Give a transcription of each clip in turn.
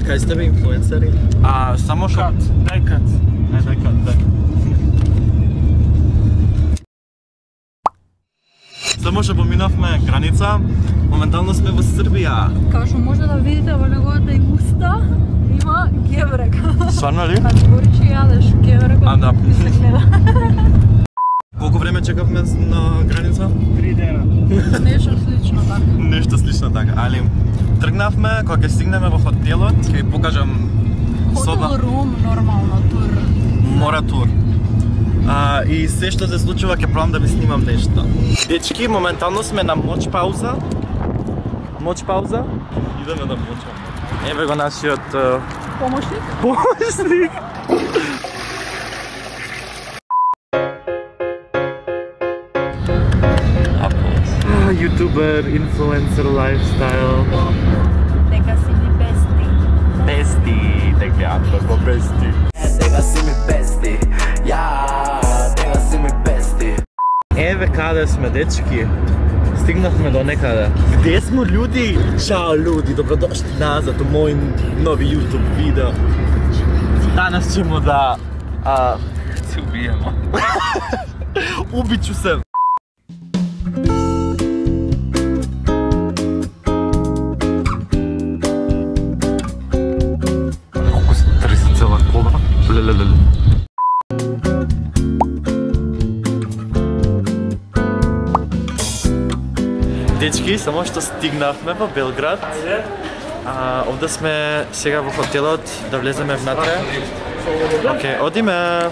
Кај сте бе инфлуенсери? Само што... Дај кат. Дај кат. Само што поминавме граница, моментално сме во Србија. Као што може да видите во неговата и уста, има геврек. Сварно ли? Збори че јадеш геврек, да. ми се гледа. Колку време чекавме на граница? 3 дена. Нешто слично така. Нешто слично така, али тргнавме, кога ќе стигнеме во хотелот, ќе ви покажам Хотел рум, нормално, тур. Мора тур. И се што се случува ќе пробам да ви снимам нешто. Дечки, моментално сме на моч пауза. Моч пауза. Идеме да мочаме. Еве го нашиот помошник. Ютубер, инфлуенсер, лайфстайл. Дека си ми бести. Бести, дека го бести. Дека си ми бести. Дека си ми бести. Еве каде сме, дечки. Стигнавме до некаде. Где сме, луѓи? Чао, луѓи, добродошли назад у мој нови YouTube видео. Данас ćemo да се убиемо. Убичу се. Колко се тресе цела кола. Лелелеле. Дечки, само што стигнавме во Белград. Овде сме сега во хотелот, да влеземе внатре. Океј, одиме.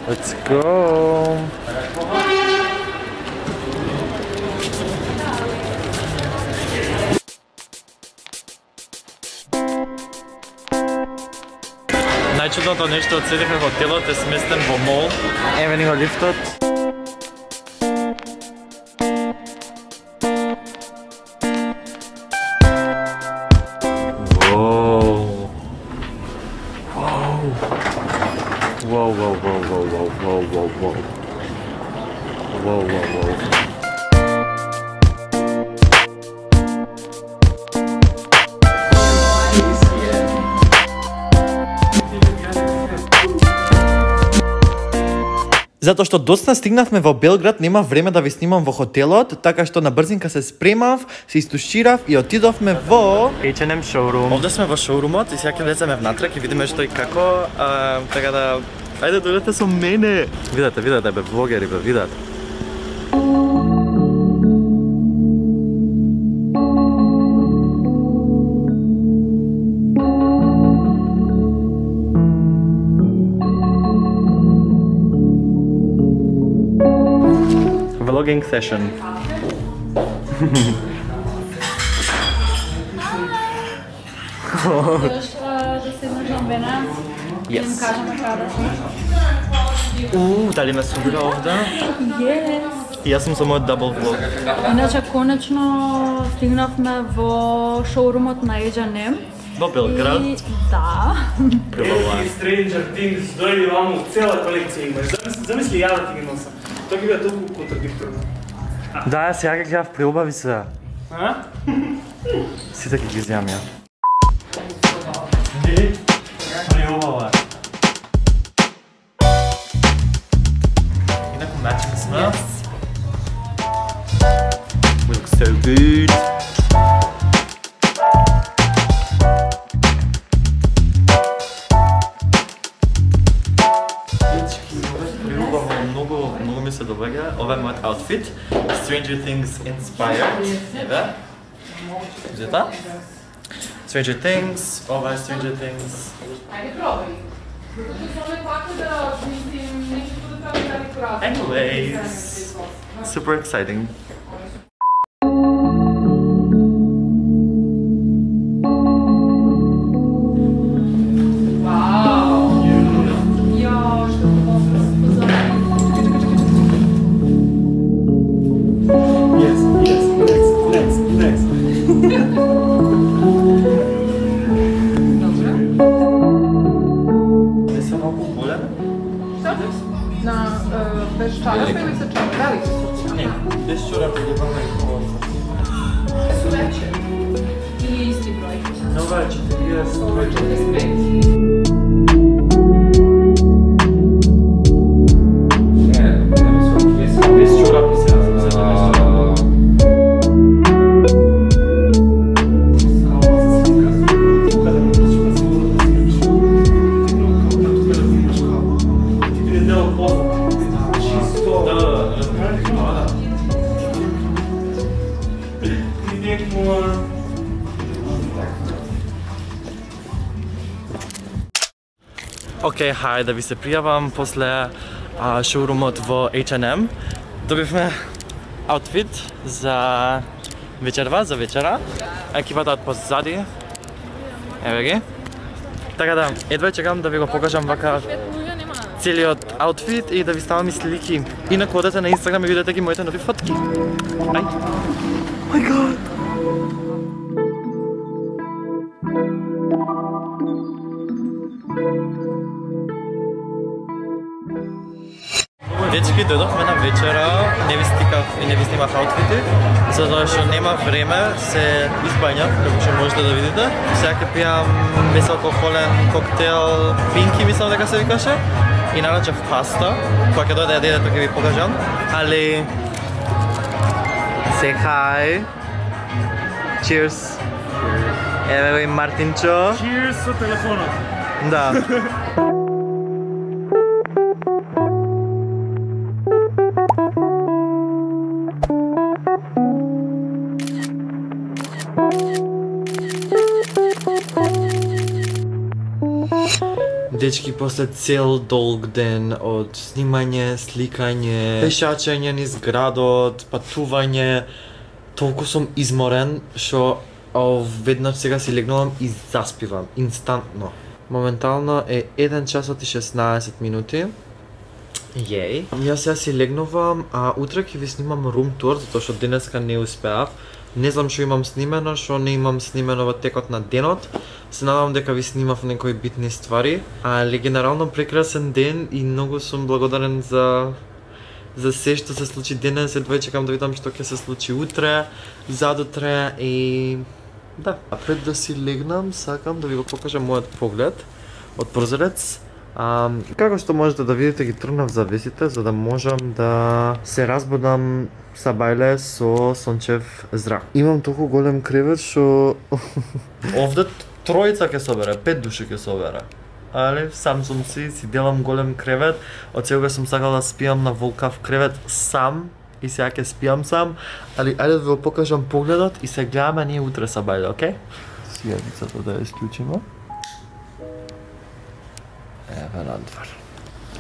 Let's go. Најчудното нешто од седеха хотелот е сместен во мол. Еве ни го лифтот. Затоа што доцна стигнавме во Белград, нема време да ви снимам во хотелот, така што на брзинка се спремав, се истуширав и отидовме во H&M шоурум. Овде сме во шоурумот и сега ќе влеземе внатре, ќе видиме што и како, така да ајде дојдете со мене. Видете бе, влогери бе, видете. Vlogging session. Да седнеш на мене, да им кажеме каде сме. Дали ме собира овде? И јас сум со мојот дабл влог. Иначе, конечно, стигнавме во шоурумот на H&M. Во Белград? Да. Stranger Things дојде ваму, цела колекција имаш. Замисли ја да ти ги носам. Тоа ги бе толку контрадикторно. Да, сега ќе гледав приубави се. Сите ќе ги изјам ја. Приубава. Инаку матчинг сме. We look so good. Многу ми се доваѓа. Ова е мојот outfit. Stranger Things inspired. Еве. Зета? Stranger Things. Ова е Stranger Things. Ајде пробај. Anyways, super exciting. Bez čarapa ili sa čarapa? Veliki su? Ne, bez čarapa je vrlo nekako. Su veće? Ili isti broj? Ova je 40. Океј, хај да ви се пријавам после шоурумот во H&M. Добивме аутфит за вечерва, за вечера. Екипата од позади. Еве ги. Така да, едва чекам да ви го покажам вака целиот аутфит и да ви ставам и слики. Инаку одете на Инстаграм и видите ги моите нови фотки. Ај. Oh my god. Дечки, дојдовме на вечера, не ви стикав и не ви снимав аутфити, затоа што нема време, се избањав, како што можете да видите. Сега ќе пијам безалкохолен коктел, Пинки мислам дека се викаше, и нарачав паста, која ќе дојде да јадете, тоа ќе ви покажам, али... Say hi! Cheers! Еве го и Мартинчо! Cheers со телефонот! Да. Дечки, после цел долг ден од снимање, сликање, пешачење низ градот, патување, толку сум изморен што веднаш сега си легнувам и заспивам инстантно. Моментално е 1 часот и 16 минути. Јеј. Јас сега си легнувам, а утре ќе ви снимам рум тур, затоа што денеска не успеав. Не знам што имам снимено, што не имам снимено во текот на денот. Се надевам дека ви снимав некои битни ствари, али генерално прекрасен ден и многу сум благодарен за се што се случи денес. Едва чекам да видам што ќе се случи утре, задутре и да. А пред да си легнам, сакам да ви го покажам мојот поглед од прозорец. Како што можете да видите, ги тргнав завесите за да можам да се разбудам са бајле со сончев зрак. Имам толку голем кревет што овде тројца ќе собере, 5 души ќе собере. Али сам сум си делам голем кревет. Од сега сум сакал да спијам на волкав кревет сам и сега ќе спијам сам, али ајде да ви го покажам погледот и се гледаме ние утре са бајле, окей? Сијавицата да ја исклучиме. Еве надвор.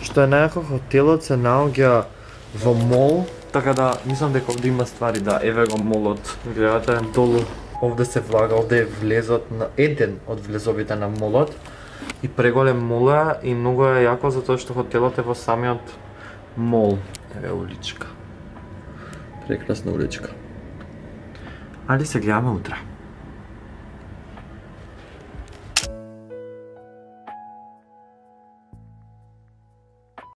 Што е најако, хотелот се наоѓа во мол, така да мислам дека овде има ствари, да, еве го молот. Гледате, долу овде се влага, овде е влезот на еден од влезовите на молот. И преголем мол е и многу е јако затоа што хотелот е во самиот мол. Еве уличка. Прекрасна уличка. Али се гледаме утре.